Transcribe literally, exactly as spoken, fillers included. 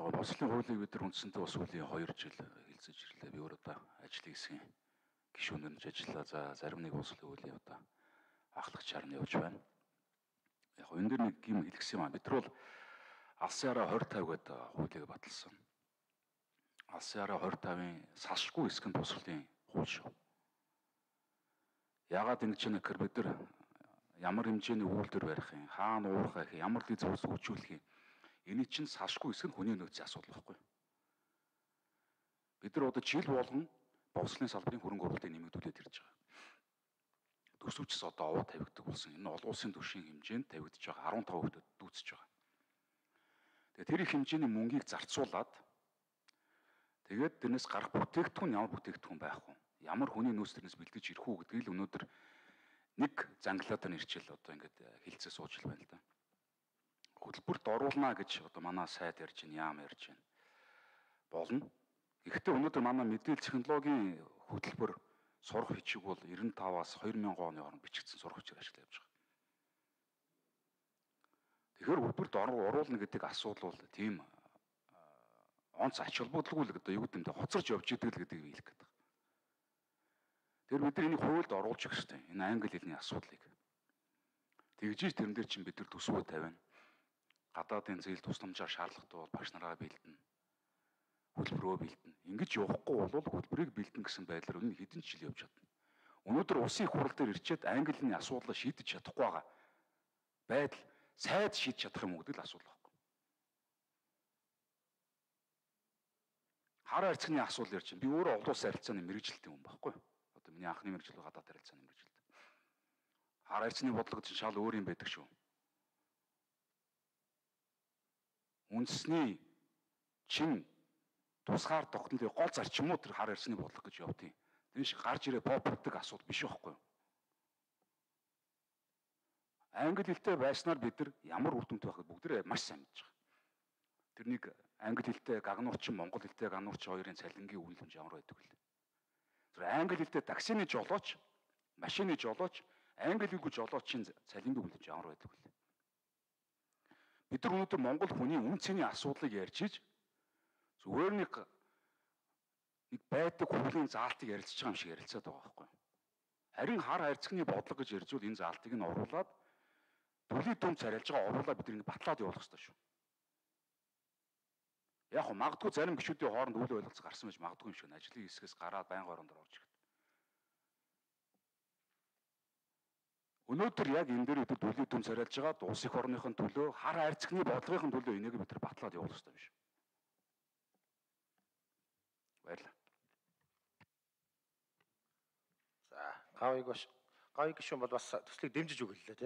байгаа бослын хуулийг бид нар үндсэндээ бас үлийн хоёр жил хэлцэж ирлээ. Би өөр одоо ажлын хэсгийн гишүүнээр нь ажиллаа. За зарим нэг бослын хуулийн одоо ахлагчаар нь явж байна. Яг энэ дэр нэг юм хэлгсэн юм аа. Бид нар бол алсын хараа двадцать пять гэдэг хуулийг баталсан. Алсын хараа двадцать пять-ын салшгүй хэсэг нь босрлын хууль шүү. Яагаад ингэж яана гэхээр бид нар ямар хэмжээний үйлдвэр барих юм, хаана уурах их, ямар л зүйлс үүжүүлэх юм. Эний чинь салшгүй хэсэг нь хүний нөөцийн асуудал байхгүй. Бид нар одоо жил болгон бовслын салбарын хөрөнгө оруулалтыг нэмэгдүүлээд ирж байгаа. Төсөвчс одоо овоо тавигддаг болсон. Энэ олон улсын түвшин хэмжээнд тавигдж байгаа арван таван хувьд дүүцэж байгаа. Тэгээ тэр их хэмжээний мөнгийг зарцуулаад тэгээд тэрнээс гарах бүтээгдэхүүн ямар бүтээгдэхүүн байх вэ? Ямар хүний нөөц төрнөөс бэлдэж ирэх үү гэдгийг л өнөөдөр нэг занглаад нэрчил одоо ингээд хилцээ сууж л байна л да. Хөтөлбөрт оруулна гэж одоо манай сайд ярьж байна, яам ярьж байна. Болно. Гэхдээ өнөөдөр манай мэдээлэл технологийн хөтөлбөр сурах бичиг бол девяносто пять-аас две тысячи оны хооронд бичигдсэн сурах бичгээр ажиллаж явж байгаа. Тэгэхээр хөтөлбөрт оруулна гэдэг асуудал бол тийм онц ач холбогдолгүй л одоо юу гэдэг нь хоцорч явж идэг л гэдгийг хэлэх гээд байна. Тэр бид нар энийг хуульд оруулж өгөх хэрэгтэй. Энэ англи хэлний асуудлыг. Тэгжиж тэрэн дээр чинь бид нар төсвөө тавина. Гадаадын зээл тусламжаар шаардлагатай бол багш нараа бэлдэнэ. Хөтөлбөрөө бэлдэнэ. Ингэж явахгүй бол хөтөлбөрийг бэлдэнэ гэсэн байдлаар өнө хэдэн жил явж чадна. Өнөөдөр улсын их хурал дээр ирчээд англи хэлний асуудлаа шийдэж чадахгүй байгаа байдал сайд шийдэж чадах юм уу гэдэг л асуудал байна. Хар харьцагны асуудал ярьж байна. Би өөрөө олон улсын харилцааны мэргэжилтийн хүн байхгүй юу? Одоо миний анхны мэргэжил гадаад харилцааны мэргэжилт. Хар харьцны бодлого чинь шал өөр юм байдаг шүү. Үндэсний чин тусгаар тогтнолын гол зарчмууд тэр хар харьцны бодлого гэж явдیں۔ Тэр шиг гарч ирээ попддаг асуудал биш байхгүй юу? Англи хэлтэй байснаар бид нар ямар үр дүнтэй байхыг бүгдээ маш сайн мэдж байгаа. Тэрнийг англи хэлтэй гагнуурчин, монгол хэлтэй гагнуурчин хоёрын цалингийн үнэлэмж ямар байдаг вэ? Тэр англи хэлтэй таксины жолооч, машины жолооч, англи хэлгүй жолоочийн цалингийн үнэлэмж ямар байдаг вэ? Бид нар өнөөдөр Монгол хүний үн цэний асуудлыг ярьж иж зүгээр нэг нэг байдаг хуулийн заалтыг ярилцж байгаа юм шиг ярилцаад байгаа байхгүй юу? Харин хар харьцагны бодлого гэж ярьж бол энэ заалтыг нь оруулаад төлийн дүн царайлж байгаа оруулаад бид нэг батлаад явуулах хэрэгтэй шүү. Яг нь магадгүй зарим гишүүдийн хооронд үйл ойлголцол гарсан байж магадгүй юм шиг нь ажлын хэсгээс гараад байнга оронд орж ирэхэд. Өнөөдөр яг энэ дээр бид төлийн дүн царайлж байгаа улс их орныхын төлөө хар харьцагны бодлогын төлөө энийг бид нар батлаад явуулах хэрэгтэй биш. Баярлалаа. За, гавыг гавыг гишүүн бол бас төслийг дэмжиж өгөлээ тийм.